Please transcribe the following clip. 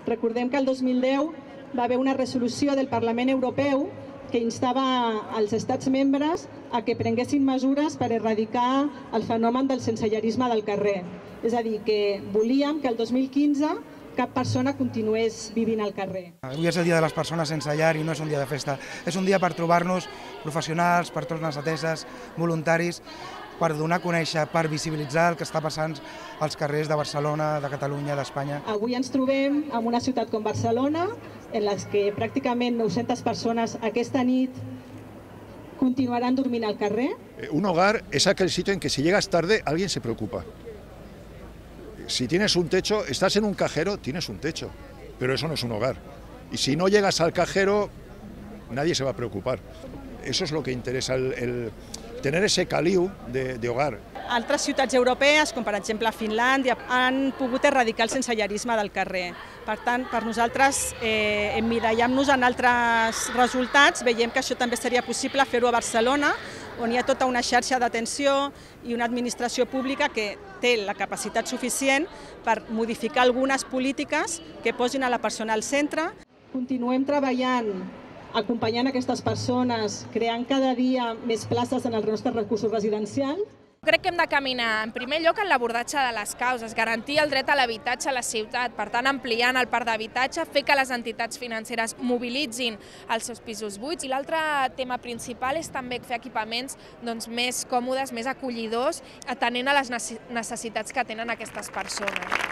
Recordem que el 2010 va haver una resolució del Parlament Europeu que instava als estats membres a que prenguessin mesures per erradicar el fenomen del sensellarisme del carrer. És a dir, que volíem que el 2015 cap persona continués vivint al carrer. Avui és el dia de les persones sense llar i no és un dia de festa. És un dia per trobar-nos professionals, persones ateses, voluntaris, per donar a conèixer, per visibilitzar el que està passant als carrers de Barcelona, de Catalunya, d'Espanya. Avui ens trobem en una ciutat com Barcelona, en les que pràcticament 900 persones aquesta nit continuaran dormint al carrer. Un hogar es aquel sitio en que si llegas tarde alguien se preocupa. Si tienes un techo, estás en un cajero, tienes un techo, pero eso no es un hogar. Y si no llegas al cajero, nadie se va a preocupar. Eso es lo que interesa, el tener ese caliu de hogar. Altres ciutats europees, com per exemple Finlàndia, han pogut erradicar el sensellarisme del carrer. Per tant, per nosaltres, emmirallant-nos en altres resultats, veiem que això també seria possible fer-ho a Barcelona, on hi ha tota una xarxa d'atenció i una administració pública que té la capacitat suficient per modificar algunes polítiques que posin a la persona al centre. Continuem treballant, acompanyant aquestes persones, creant cada dia més places en els nostres recursos residencials. Crec que hem de caminar, en primer lloc, en l'abordatge de les causes, garantir el dret a l'habitatge a la ciutat, per tant, ampliant el parc d'habitatge, fer que les entitats financeres mobilitzin els seus pisos buits. I l'altre tema principal és també fer equipaments més còmodes, més acollidors, atenent a les necessitats que tenen aquestes persones.